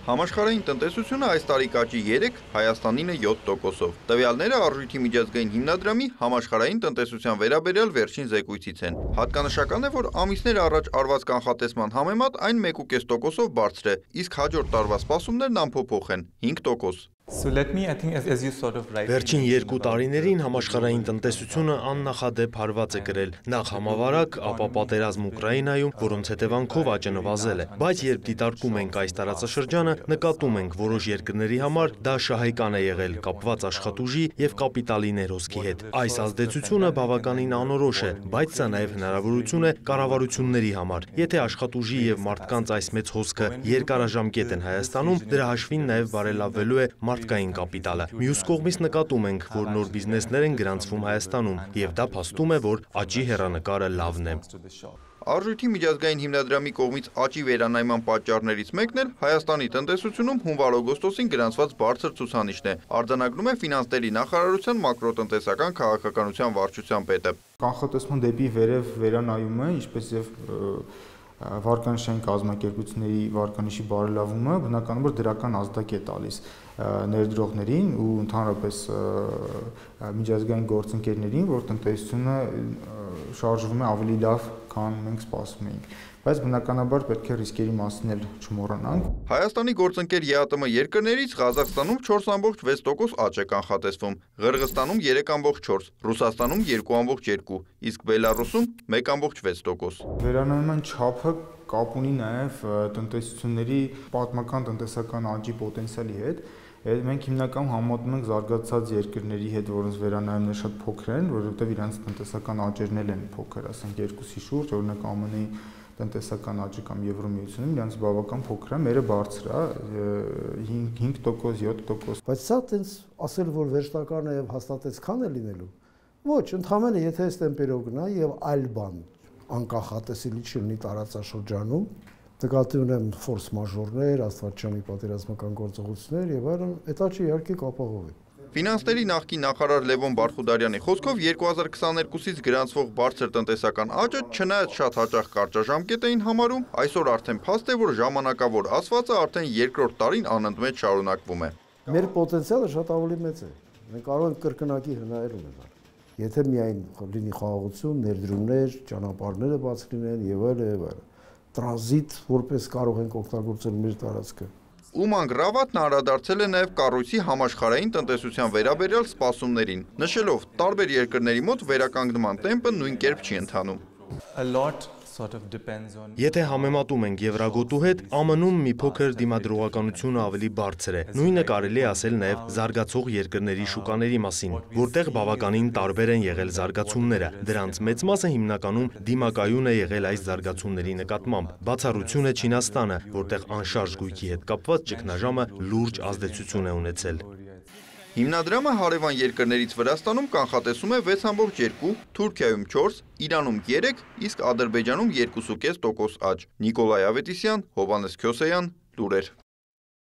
Համաշխարհային տնտեսությունը այս տարի կաճի 3, Հայաստանինը 7%-ով։ Տվյալները Արժույթի միջազգային հիմնադրամի համաշխարհային տնտեսության վերաբերյալ վերջին զեկույցից են։ Հատկանշական է, որ ամիսներ առաջ արված կանխատեսման համեմատ այն 1,5%-ով բարձր է, իսկ հաջորդ տարվա սպասումներն անփոփոխ են՝ 5%։ Վերջին 2 տարիներին համաշխարհային տնտեսությունը աննախադեպ հարված է կրել, նախ համավարակ, ապա պատերազմ Ուկրաինայում, որոնց հետևանքով աճը նվազել է։ Բայց երբ դիտարկում ենք այս տարածաշրջանը, նկատում ենք, որոշ երկրների համար դա շահեկան է եղել, կապված աշխատուժի եւ կապիտալի ներհոսքի հետ։ Այս ազդեցությունը բավականին անորոշ է, բայց սա նաեւ հնարավորություն է կառավարությունների համար։ Եթե աշխատուժի եւ մարդկանց այս մեծ հոսքը երկարաժամկետ են Հայաստանում, դրա հաշվին նաեւ բարելավվելու է մարդկային կապիտալը։ Մյուս կողմից նկատում ենք, որ նոր բիզնեսներ են գրանցվում Հայաստանում, եւ դա փաստում է, որ աճի հեռանկարը լավն է։ Արժույթի միջազգային հիմնադրամի կողմից աճի վերանայման պատճառներից մեկն էլ Հայաստանի տնտեսությունում հունվար-օգոստոսին գրանցված բարձր ցուցանիշն է, արձանագրում է Ֆինանսների նախարարության մակրոտնտեսական քաղաքականության վարչության պետը։ Կանխատեսման դեպի վերև վերանայումը, ինչպես եւ վարկանիշային կազմակերպությունների վարկանիշի բարելավումը բնականաբար դրական ազդակ է տալիս ներդրողներին ու ընդհանրապես միջազգային գործընկերներին, որ տնտեսությունը շարժվում է ավելի լավ, քան մենք սպասում էինք, բայց բնականաբար պետք է ռիսկերի մասին էլ չմոռանանք։ Հայաստանի գործընկեր ԵԱՏՄ երկրներից Ղազախստանում 4,6% աճ է կանխատեսվում, Ղրղստանում 3,4%, Ռուսաստանում 2,2%, իսկ Բելարուսում 1,6%։ Վերանայման չափը կապ ունի նաև տնտեսությունների պատմական տնտեսական աճի պոտենցիալի հետ։ Մենք հիմնականում համեմատում ենք զարգացած երկրների հետ, որոնց վերանայումները շատ փոքր են, որովհետև իրենց տնտեսական աճերն էլ են փոքր, ասենք 2-ի շուրջ, օրինակ ԱՄՆ-ի տնտեսական աճը կամ Եվրոմիությունում իրենց բավական փոքր է, մերը բարձր է 5%, 7%։ Բայց սա տենց ասել, որ վերջնական է եւ հաստատեց քան է լինելու։ Ոչ, ընդհանրապես եթե այս տեմպերով գնա եւ այլ բան անկախատեսելի չլինի տարածաշրջանում, նկատի ունեմ ֆորս մաժորներ, աստվածչանի պատերազմական գործողություններ եւ այլն, այդ աճը իհարկե կապահովի։ Ֆինանսների նախկին նախարար Լևոն Բարխուդարյանի խոսքով 2022-ից գրանցվող բարձր տնտեսական աճը չնայած շատ հաճախ կարճաժամկետ էին համարում, այսօր արդեն փաստ է, որ ժամանակավոր ասվածը արդեն երկրորդ տարին անընդմեջ շարունակվում է։ Մեր պոտենցիալը շատ ավելի մեծ է։ Մենք կարող ենք կրկնակի հնարել ունենալ։ Եթե միայն լինի խաղաղություն, ներդրումներ, ճանապարհները բաց լինեն եւ այլն, տրանզիտ որպես կարող ենք օգտագործել մեր տարածքը։ Ուման Գրավատն անդրադարձել է նաև կառույցի համաշխարհային տնտեսության վերաբերյալ սպասումներին, նշելով, տարբեր երկրների մոտ վերականգնման տեմպը նույն կերպ չի ընթանում։ Եթե համեմատում ենք Եվրագոտու հետ, ԱՄՆ-ում մի փոքր դիմադրողականությունը ավելի բարձր է։ Նույնը կարելի է ասել նաև զարգացող երկրների շուկաների մասին, որտեղ բավականին տարբեր են եղել զարգացումները։ Դրանց մեծ մասը հիմնականում դիմակայուն է եղել այս զարգացումների նկատմամբ։ Բացառություն է Չինաստանը, որտեղ անշարժ գույքի հետ կապված ճգնաժամը լուրջ ազդեցություն է ունեցել։ Հիմնադրամը հարևան երկրներից Վրաստանում կանխատեսում է 6,2%, Թուրքիայում 4%, Իրանում 3%, իսկ Ադրբեջանում 2,5% աճ։ Նիկոլայ Ավետիսյան, Հովհաննես Քյոսեյան, լուրեր։